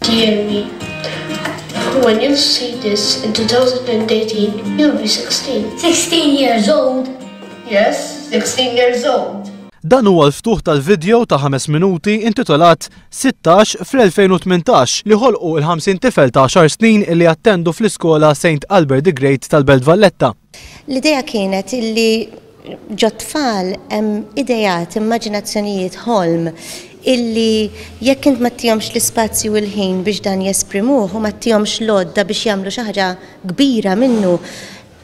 Dear me, when you see this in 2018, you'll be 16. 16 years old? Yes, 16 years old. Dan huwa l-ftuħ tal-video ta' ħames minuti intitolat 16 fl-2018 li ħolqu il-50 tifel ta' 10 snin li jattendu fl-iskola St. Albert the Great tal-Belt Valletta. L-idea kienet illi ġot-tfal hemm idejat, immaġinazzjonijiet, ħolm illi jekk int ma ttihomx l-ispazju u l-ħin biex dan jesprimuh u ma ttihomx l-għodda biex jagħmlu xi ħaġa kbira minnu,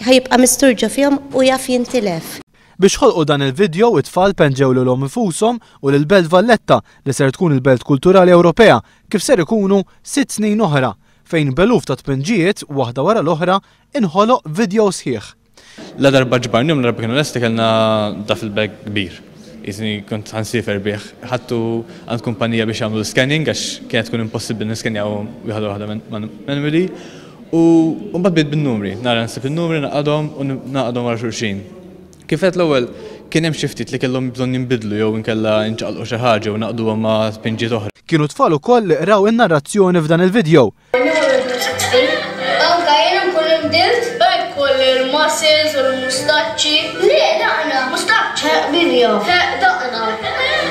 ħa jibqa' mistur ġo fihom u jaf jintilef. Biex ħolqu dan il-video it-tfal penġew lilhom infushom u lil Belt Valletta li ser tkun il-Belt Kulturali Ewropea kif ser ikunu 6 snin oħra fejn b'eluf ta' tpinġijiet waħda wara l-oħra inħoloq video sħiħ. La darba ġbarnihom, la darba kienu lesti kellna duffel bag kbir. Jiġifieri kont ħa nsiefer bih. Ħadtu għand kumpanija biex jagħmlu scanning għax kienet tkun impossibbli niskenjaw wieħed waħda manually. U mbagħad bdejt bin-numri, nara nsib in-numri naqadhom u naqadhom wara xulxin. Kif għedt l-ewwel kien hemm xi ftit li kellhom bżonn jinbidlu jew inkella nċaqalqu xi ħaġa u naqduhom ma' tpinġiet oħra. Kienu tfal ukoll li qraw in-narrazzjoni f'dan il-video. Anka jien nkun inbdilt. Kolli l-muscles u l-mustaċċi. Le, daqna. Mustaċċi. Min jaf? Daqna.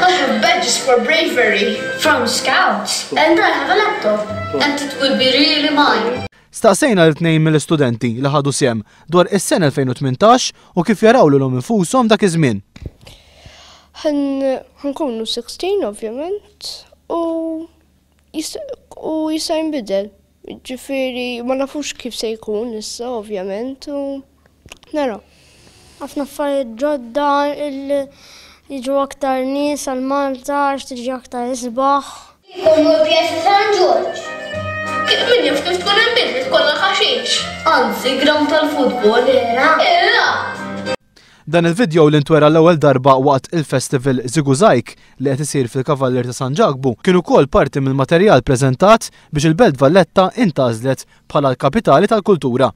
I have badges for bravery. From scouts. And I have a laptop. And it will be really mine. Staqsejna lil tnejn mill-istudenti li ħadu sehem dwar is-sena 2018 u kif jaraw lilhom infushom dak iż-żmien. Ħa nkunu 16 ovvjament u jista' jinbidel. Ġifieri ma nafux kif se jkun issa ovvjament u naraw. Ħafna affarijiet ġodda jiġu aktar nies għal Malta għax tiġi aktar isbaħ. Jkunu l-Pjazza San Ġorġ. Min jaf kif tkun inbidlet kollha ħaxix. Anzi, ground tal-futbol. Era. Era. Dan il-video li ntwera l-ewwel darba waqt il-festival ŻiguŻajg li qed isir fil-Kavallier ta' San Ġakbu kien ukoll parti mill-materjal preżentat biex il-Belt Valletta intgħażlet bħala l-kapitali tal-kultura.